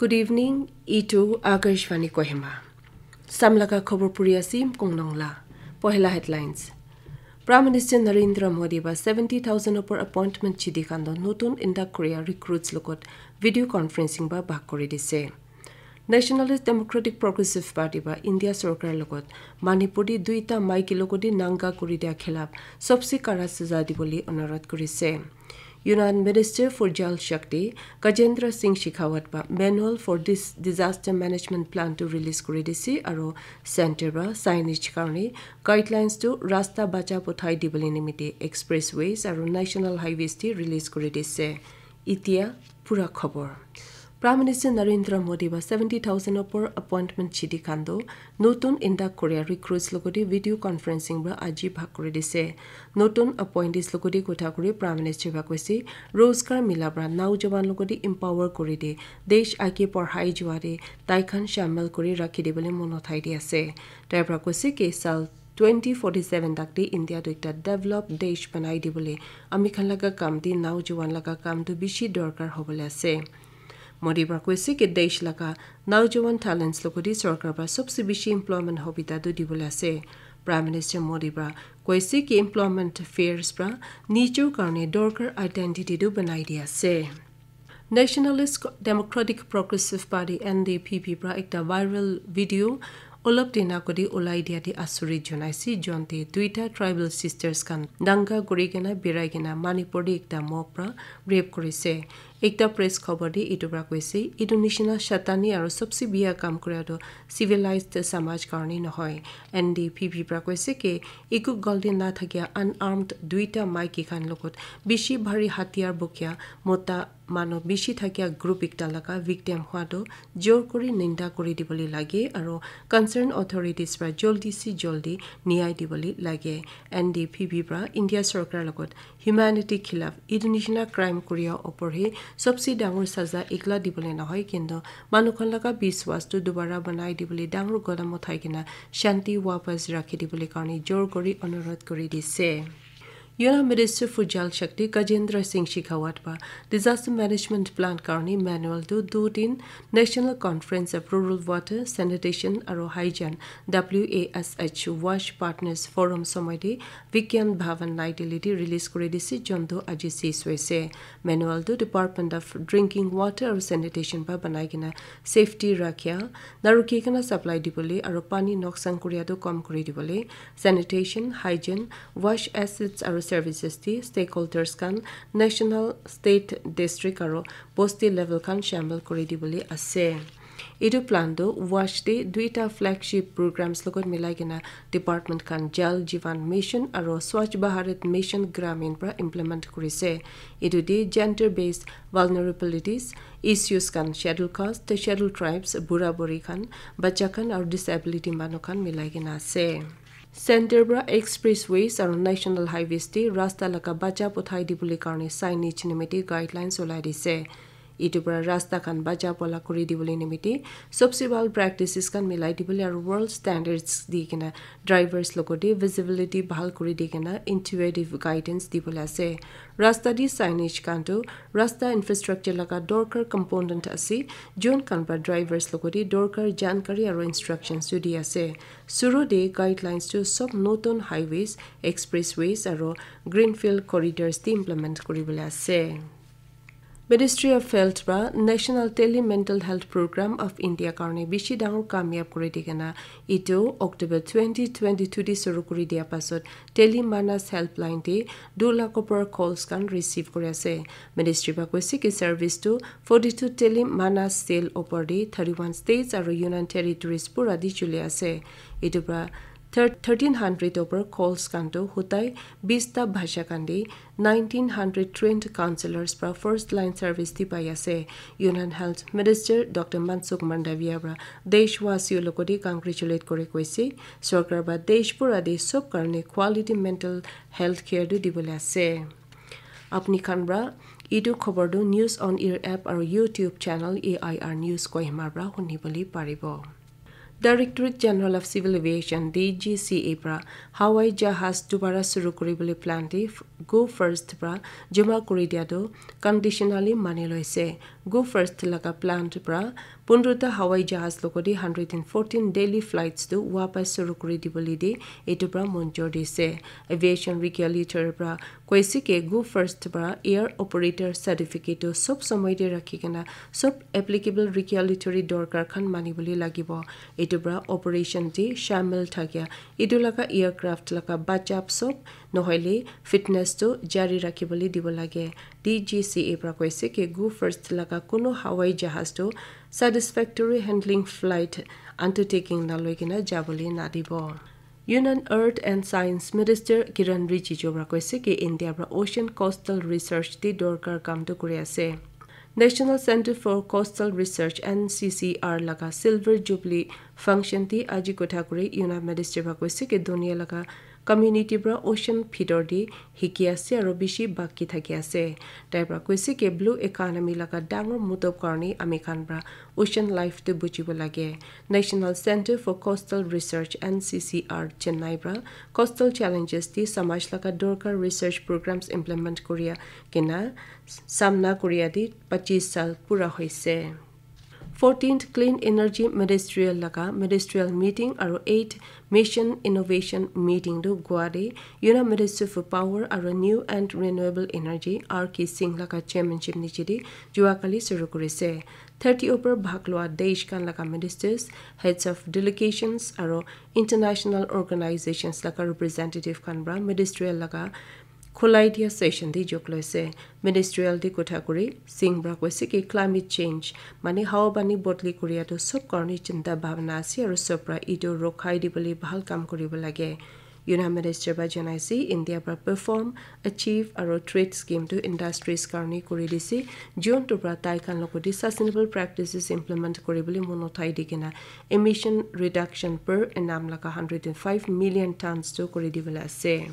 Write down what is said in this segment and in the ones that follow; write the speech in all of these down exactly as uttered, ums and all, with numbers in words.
Good evening, itu Akashvani Kohima. Samlaga khobor puri asim kongnong la. Pohela headlines. Prime Minister Narendra Modi ba seventy thousand opor appointment chidi khan do notun indak Korea recruits logot video conferencing ba bak kuri dise. Nationalist Democratic Progressive Party ba India sorkar logot Manipur di duita maiki logodi nanga kuri dia khilap sobse kara saza dibole onurodh kurise. Union Minister for Jal Shakti Gajendra Singh Shekhawat ba manual for this disaster management plan to release kuri dise aro center ba signage karone guidelines to rasta bacha pothai dibole nimite expressways aro national highways te release kuri dise. Itia pura khobor. Prime Minister Narendra Modi ba seventy thousand opor appointment chidi khan do notun indak Korea recruits logodi video conferencing ba aji bhag kuri dise. Notun appointees logodi kotha kuri Prime Minister ba koise, Rozgar mila pra naujawan logodi empower kuri de, desh aage padhai jua de, tai khan shamil kuri rakhi dibole mon uthai di ase. Tai pra koise ke sal twenty forty-seven tak de India tu ekta developed desh banai dibole ami khan laga kam de naujawan laga kam tu bishi dorkar hobole ase. Modi pra koise ke desh laga naujawan talents logodi sorkar pra sobse bishi employment hobita tu dibole ase. Prime Minister Modi pra koise ke employment fairs pra nijor karone dorkar identity tu banai di ase. Nationalist Democratic Progressive Party, N D P P, pra ekta viral video olop dina kodi ulai dia di asuri jonaisi, jonte duita tribal sisters khan danga kuri kena birai kena Manipur di ekta mob pra rape kurise. Ekta press khobor di itu pra koise, itu nishina shatani aro sobse biya kam kura tu civilized samaj karone nohoi. N D P P pra koise ke eku galti na thakia unarmed duita maiki khan logot bishi bhari hatiyar bokia mota manu bishi thakia group ekta laga victim hua tu jor kuri ninda kuri dibole lage aro concern authorities pra joldi se joldi niyai dibole lage. N D P P pra India sorkar logot humanity khilaf itu nishina crime kuria opor he sobse dangor saza ekla dibole nohoi kintu manu khan laga biswas tu dubara banai dibole dangor godam uthai kena shanti wapas rakhi dibole karone jor kuri onurodh kuri dise. Union Minister for Jal Shakti Gajendra Singh Shekhawat ba disaster management plan karone manual tu du din National Conference of Rural Water, Sanitation aro Hygiene, W A S H, Wash Partners Forum somoi de Vigyan Bhavan Nai Delhi de release kuri dise, jontu aji sis hoise. Manual tu Department of Drinking Water aro Sanitation ba banai kena safety rakhia, naruki kena supply dibole aro pani noksan kuria tu kom kuri dibole, sanitation, hygiene, wash assets aro services te stakeholders khan national, state, district aro bosti level khan shamil kuri dibole ase. Etu plan tu wash te duita flagship programs logot milai kena department khan Jal Jeevan Mission aro Swachh Bharat Mission Gramin pra implement kurise. Etu te gender based vulnerabilities issues khan schedule caste, schedule tribes, bura buri khan, bacha khan aro disability manu khan milai kena ase. Center pra expressways aro national highways te rasta laga bacha pothai dibole karone signage nimite guidelines ulai dise. Etu pra rasta khan bacha pola kuri dibole nimite sobse bhal practices khan milai dibole aro world standards di kena drivers logote visibility bhal kuri di kena intuitive guidance dibole ase. Rasta di signage khan tu rasta infrastructure laga dorkar component ase, jon khan pra drivers logote dorkar jankari aro instructions tu di ase. Suru de guidelines tu sob notun highways, expressways aro greenfield corridors te implement kuribole ase. Ministry of Health pra National Tele Mental Health Program of India karone bishi dangor kamyab kuri di kena etu October twenty twenty-two de suru kuri dia pasot Tele Manas helpline de du lakh opor calls khan receive kuri ase. Ministry pra koise ki service tu forty-two Tele Manas cell opor de thirty-one states aro union territories pura de chuli ase. Etu pra thir-, thirteen hundred opor calls khan tu hutai bista bhasha khan de nineteen hundred trained counselors pra first line service di pai ase. Union Health Minister Doctor Mansukh Mandaviya pra deshwasi logote congratulate kuri koise, sorkar pra desh pura de sob karone quality mental health care tu dibole ase. Apni khan pra etu khobor tu News on Air app aro YouTube channel A I R News Kohima pra huni bole paribo. Directorate General of Civil Aviation, D G C A pra hawai jahaz dubara suru kuribole plan de Go First pra joma kuri dia tu conditionally mani loise. Go First laga plant pra pondro ta hawai jahaz logodi hundred and fourteen daily flights tu wapas suru kuri dibole de etu pra monjor dise. Aviation regulator pra koise ke Go First pra air operator certificate tu sob samay de rakhi kena sob applicable regulatory dorkar khan mani bole lagibo. Etu pra operation te shamil thakia etu laga aircraft laga bachap sob nohoile fitness tu jari rakhi bole dibo lage. D G C A pra koise ke Go First laga kuno hawai jahaz tu satisfactory handling flight undertaking na loi kena jabole na dibo. Union Earth and Science Minister Kiran Rijiju pra koise ke India pra ocean coastal research te dorkar kam tu kuri ase. National Center for Coastal Research, N C C R laga Silver Jubilee function te aji kotha kuri Union Minister pra koise ke dunia laga community pra ocean bhitor te hiki ase aro bishi baki thaki ase. Tai pra koise ke blue economy laga dangor motob karne ami khan pra ocean life tu bujibo lage. National Center for Coastal Research, N C C R, Chennai pra coastal challenges te samaj laga dorkar research programs implement kuria kena samna kuria de pachis sal pura hoise. Fourteenth Clean Energy Ministerial laga ministerial meeting aro eighth Mission Innovation Meeting tu Goa de Union Minister for Power aro New and Renewable Energy R K Singh laga chairmanship niche de jua kali suru kurise. Thirty upar bhag lua desh khan laga ministers, heads of delegations aro international organizations laga representative khan pra ministerial laga khulai dia session te jok loise. Ministerial te kotha kuri Singh pra koise ki climate change mane hawa pani bodli kuria tu sob karne chinta bhabna ase aro sob pra etu rokhai dibole bhal kam kuribo lage. Union Minister pra janaise India pra perform, achieve aro trade scheme tu industries karne kuri dise. Jun tu pra tai khan logodi sustainable practices implement kuribole mon uthai di kena emission reduction per annum laga hundred and five million tons tu kuri dibole ase.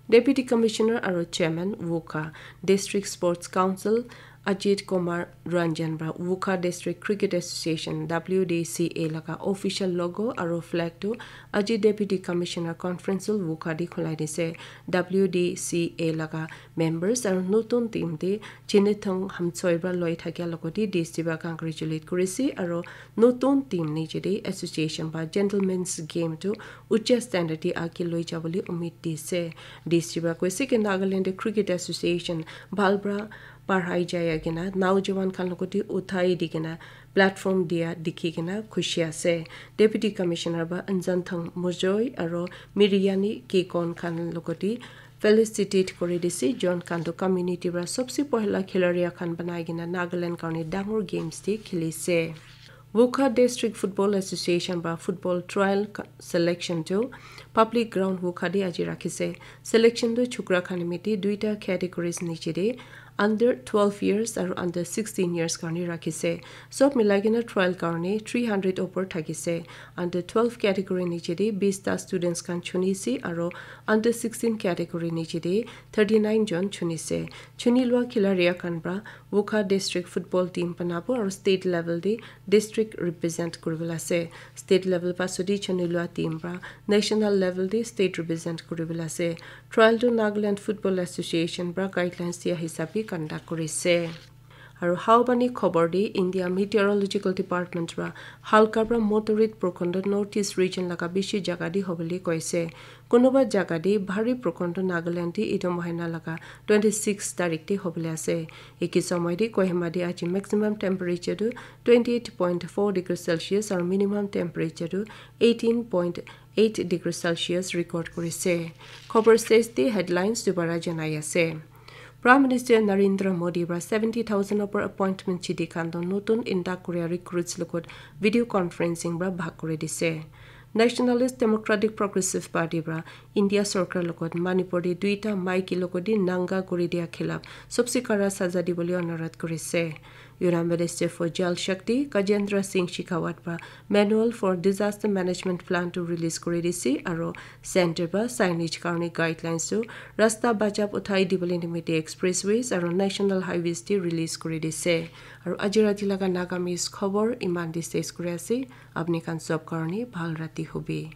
Deputy Commissioner aro Chairman Wokha District Sports Council Ajit Kumar Ranjan pra Wokha District Cricket Association, W D C A, laga official logo aro flag tu aji Deputy Commissioner Conference Hall Wokha di khulai dise. W D C A laga members aro notun team te Chinithong Hamchoi pra loi thakia logodi D C pra congratulate kurise aro notun team niche de association pra gentlemen's game tu ucha standard te age loi jabole umid dise. D C pra koise ki Nagaland Cricket Association bhal pra parhai jai kena naujawan khan logoti uthai di kena platform dia dikhi kena khushi ase. Deputy Commissioner pra Anjan Thang Mujoi aro Miriyani Kikon khan logoti felicitate kuri dise, jon khan tu community pra sobse pohila khilaria khan banai kena Nagaland karne dangor games te khilise. Wokha District Football Association pra football trial ka-, selection tu public ground Wokha te aji rakhise. Selection tu chukra khan nimite duita categories niche te under twelve years aro under sixteen years karne rakhise. Sob milai kena trial karne three hundred upor thakise. Under twelve category niche te bista students khan chunise aro under sixteen category niche te thirty nine jon chunise. Chuni lua khilaria khan pra Wokha District Football Team banabo aro state level te district represent kuribole ase. State level pasodi chuni lua team pra national level te state represent kuribole ase. Trial tu Nagaland Football Association pra guidelines dia hisab te conduct kurise. Aro haobani khobor te India Meteorological Department pra halka pra moderate prokhon tu North East region laga bishi jaga te hobole koise. Kunuba jaga te bhari prokhon tu Nagaland te etu mohina laga twenty six tarik te hobole ase. Eki somoy te Kohima te aji maximum temperature tu twenty eight point four degree Celsius aro minimum temperature tu eighteen point eight degree Celsius record kurise. Khobor stage te headlines dubara janai ase. Prime Minister Narendra Modi pra seventy thousand upor appointment chidi khan tu notun intak kuria recruits logot video conferencing pra bhag kuri dise. Nationalist Democratic Progressive Party pra India sorkar logot Manipur te duita maiki logodi nanga kuri dia khilaf sobse kara saza dibole onurodh kurise. Union Minister for Jal Shakti Gajendra Singh Shekhawat pra Manual for Disaster Management Plan tu release kuri dise aro center pra signage karne guidelines tu rasta bachap uthai dibole nimite expressways aro national highways te release kuri dise. Aro aji rati laga Nagamese khobor iman te ses kuri ase. Apni khan sob karne bhal rati hobi.